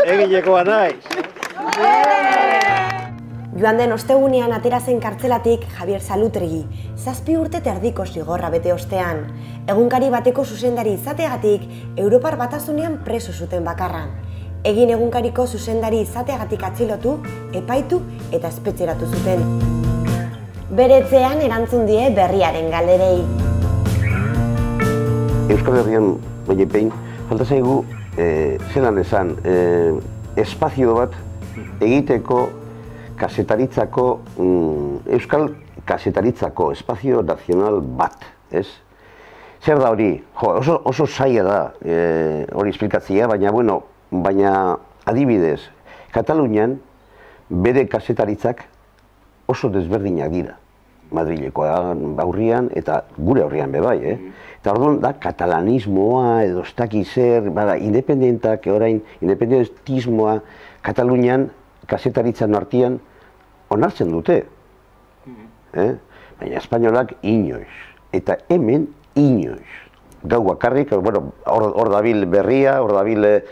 Egilekoa naiz. Joan den ostegunean atera zen kartzelatik Javier Salutregi, 7 urte eta erdiko zigorra bete ostean. Egunkari bateko zuzendari izateagatik Europar Batasunean preso zuten bakarra. Egin egunkariko zuzendari izateagatik atxilotu, epaitu eta espetxeratu zuten. Beretzean erantzun die berriaren galderei. Euskal Herrian, baina pein, falta zaigu, zelan esan, espazio bat egiteko kasetaritzako, euskal kasetaritzako espazio nazional bat, ez? Zer da hori? Jo, oso zaila da hori esplikatzea, baina adibidez, Katalunian bere kasetaritzak oso desberdinak dira. Madrilekoa aurrian eta gure aurrian bebai, Eta orduan da katalanismoa edo ez dakiz zer, independentak, orain, independentismoa Katalunian kasetaritzan artean onartzen dute. Baina espainolak inoiz. Eta hemen inoiz. Gau bakarrik, hor dabil berria, hor dabil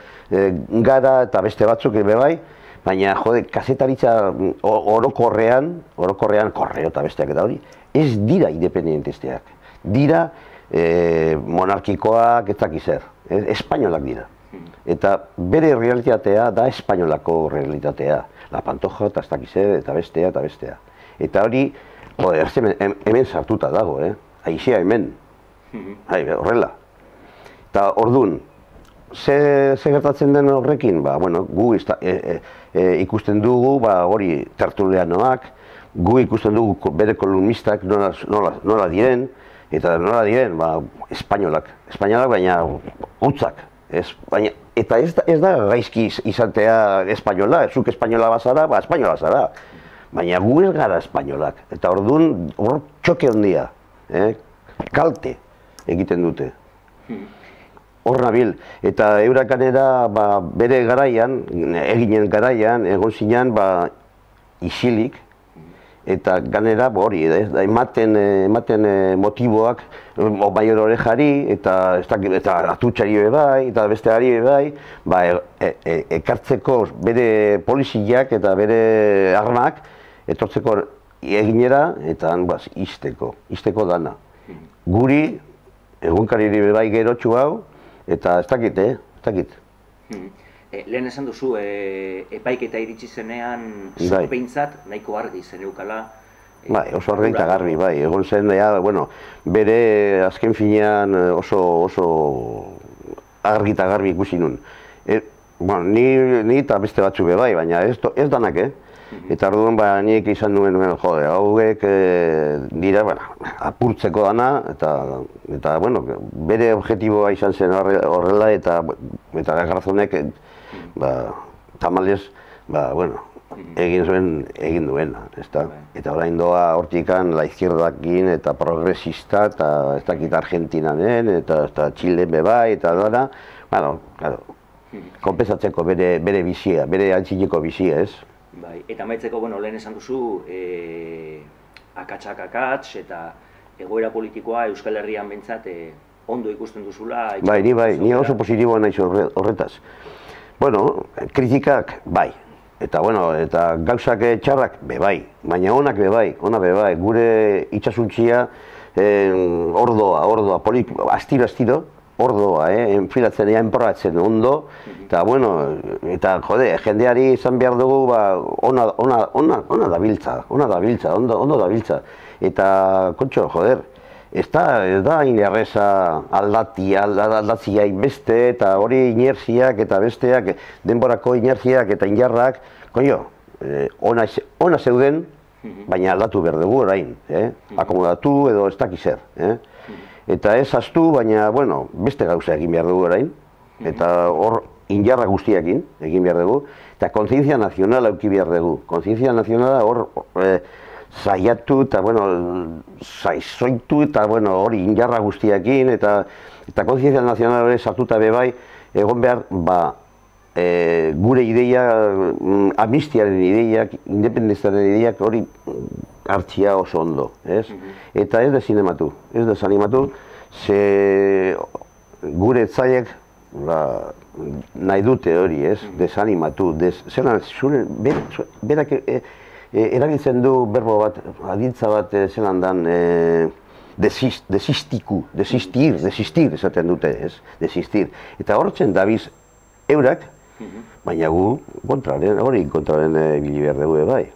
gara eta beste batzuk bebai, baina jode, kasetaritza orokorrean, korreo eta besteak eta hori, ez dira independentesteak. Dira monarkikoak ez dakiz zer. Espainolak dira. Eta bere realitatea da espainolako realitatea. La Pantoja eta ez dakiz zer, eta bestea. Eta hori, hemen sartuta dago, Aizea hemen. Horrela. Eta orduan, ze gertatzen den horrekin? Gu ikusten dugu, hori tertulianoak, gu ikusten dugu bere kolumnistak nola diren, eta nola diren, espainolak, baina hutzak. Eta ez da gaizki izatea espainola, zuk espainola bazara, espainola zara. Baina gu ez gara espainolak, eta orduan hor txoke handia, kalte egiten dute. Hor nabil, eta eurakanera bere garaian, eginen garaian, egon zinean isilik, eta ganera hori, ematen motiboak Maior Orejari, eta atutxari bebai, eta besteari bebai, ekartzeko bere poliziak eta bere armak, etortzeko eginera, eta izteko dana. Guri, egunkariri bebai gerotxu hau, eta ez dakit. Lehen esan duzu, epaiketa iritsi zenean, zupeintzat nahiko argi zen eukala. Oso argi eta garbi, egon zen, bere azken finean oso argi eta garbi ikusi nun. Ni eta beste batzuk bebai, baina ez danak, Eta orduan nik izan nuen, hauek dira apurtzeko dana, eta bere objetiboa izan zen horrela, eta Garzonek tamalez, egin duena, eta orain doa hortikan la izquierdakin eta progresista, eta ez dakit Argentinanen, eta Txilen bebai, eta dara, konpensatzeko bere bizia, bere antzineko bizia, ez? Eta amaitzeko, lehen esan duzu, akatsak, eta egoera politikoa Euskal Herrian behintzat ondo ikusten duzula. Ni oso positiboa naiz horretaz. Kritikak, eta gauzak txarrak, baina onak bebai, gure itxasuntzia ordoa, astiro, ordoa, enfilatzen, enprobatzen ondo, eta jendeari izan behar dugu, ona dabiltza, ondo dabiltza. Eta, kontxo, ez da inerreza aldatzia beste, eta hori inerziak eta besteak, denborako inerziak eta injarrak, ona zeuden, baina aldatu behar dugu orain, akomodatu edo ez dakiz zer. Eta ez astu, baina, beste gauza egin behar dugu orain, eta hor injarra guztiakin egin behar dugu, eta kontzientzia nazionala eduki behar dugu. Kontzientzia nazionala hor zaiatu eta, zaizoitu eta hori injarra guztiakin, eta kontzientzia nazionala hori sartuta bebai, egon behar, gure ideia, amnistiaren ideiak, independentziaren ideiak hori hartzia oso ondo, ez? Eta ez desanimatu, ze gure etzaiek nahi dute hori, ez, desanimatu, berak erabiltzen du berbo bat, adintza bat zelan dan, desistir esaten dute, ez, desistir. Eta horretzen dabiz eurak, baina gu hori kontraren ibili behar dugu bai.